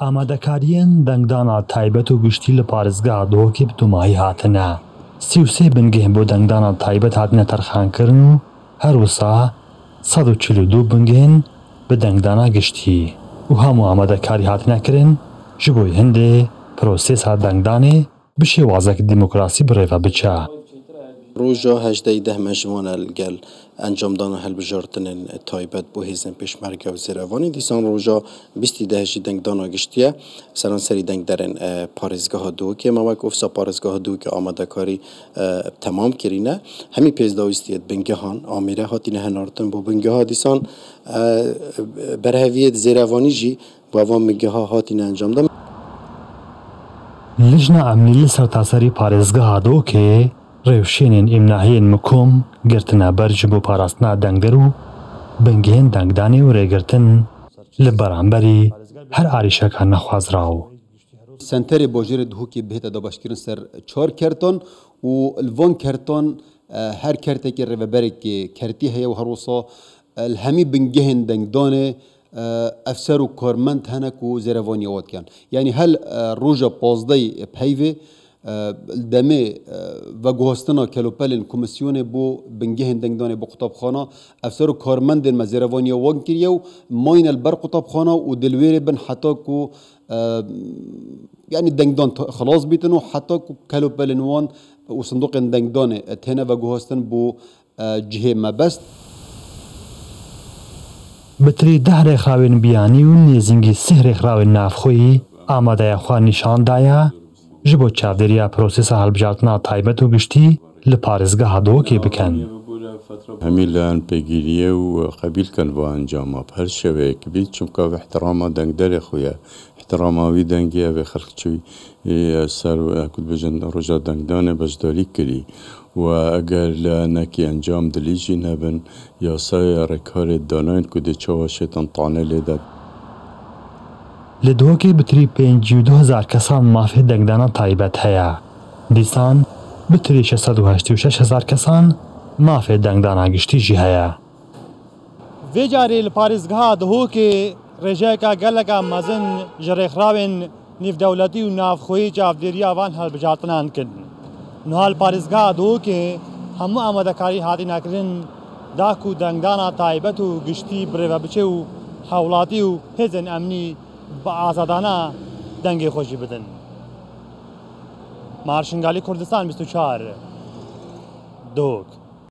ئامادەکارییەن دەنگدانا تایبەت و گشتی لە پارێزگا دهۆکێ bi دوماهی هاتنە. 33 بنگەه بۆ دەنگدانا تایبەت هاتنە تەرخانکردن و هەروسا 142 بنگەهن bi دەنگدانا گشتی و هەموو ئامادەکاری هاتنە کردن ji bo hindê prosesa دەنگدانێ bi şêwazek demokrasî birêve biçe. Roja hejdeh deh me ji wan gel encamdana hilbijartinên taybet bo hêzên pêşmerge û zêrevanî dîsan roja bîstî deh jî dengdana giştiye seranserî dengderên parêzgeha Duhokê me wek ofîsa parêzgeha Duhokê amadekarî temam kirîne hemî pêzdawîstiyê bingehan amîre hatine hinartin bo bingeha dîsan berheviyê zêrevanî jî bo evan bingeha hatine encamdan. Lijna Emnî li sertaserî parêzgeha Duhokê rêwşênên îmnahiyên mikom girtina ber ji bo parastina dengder û bingehên dengdanê û rêgirtin li beramberî her arîşeka nexwazraw. Senterê bajarê Duhokê bihête dabeşkirin ser çar kertan û li van kertan her kertekê rêveberekê kertî heye û her wisa li hemî bingehên dengdanê efser û karmend hene ku zêrevaniya wan dikin. Yanî hel roja pazdehê peyvê demê veguhastina kelopelên komîsyonê bo bingehên dengdanê bo qutabxana efser û karmendên me zêrevaniya wan kiriye û mayne li ber qutabxana û dilwêrê bin heta ku yani dengdan xelas bîtin û heta ku kelopelên wan û sindoqên dengdanê têne veguhastin bo cihê mebest. Bitirî deh rêxrawên biyanî û nêzîngî sih rêxrawên navxweyî amadeya xwe nîşan daye ji bo çavdêriya prosesa hilbijartina taybet û giştî li parêzgeha Duhokê bikin. Hemî layan pêgîriye û qebîl kin va encama bi her şêweyek bî çimka ev ihtirama dengderê xwe ye ihtirama wî dengê ev ê xelk çû ser ku dibêjin roja dengdanê beşdarî kirî و eger layanekî encam dilî jî nebin yasaya rêkarê danayên ku dê çawa şêtan tanê lê de. Li Duhokê bitirî 52 hezar kesan mafê dengdana taybet heye. Dîsan bitirî 686 hezar kesan mafê dengdana giştî jî heye. Vê carê li parêzgeha Duhokê rêjeyeka geleka mezin ji rêxrawên nîvdewletî û navxweyî çavdêriya van hilbijartinan kirin. Niha li parêzgeha Duhokê hemû amadekarî hatine kirin da ku dengdana taybet û giştî birêve biçe û hewlatî û hêzên emnî bi azadana dengê xwe jî bidin. Marşingalî Kurdistan 24 Duhok.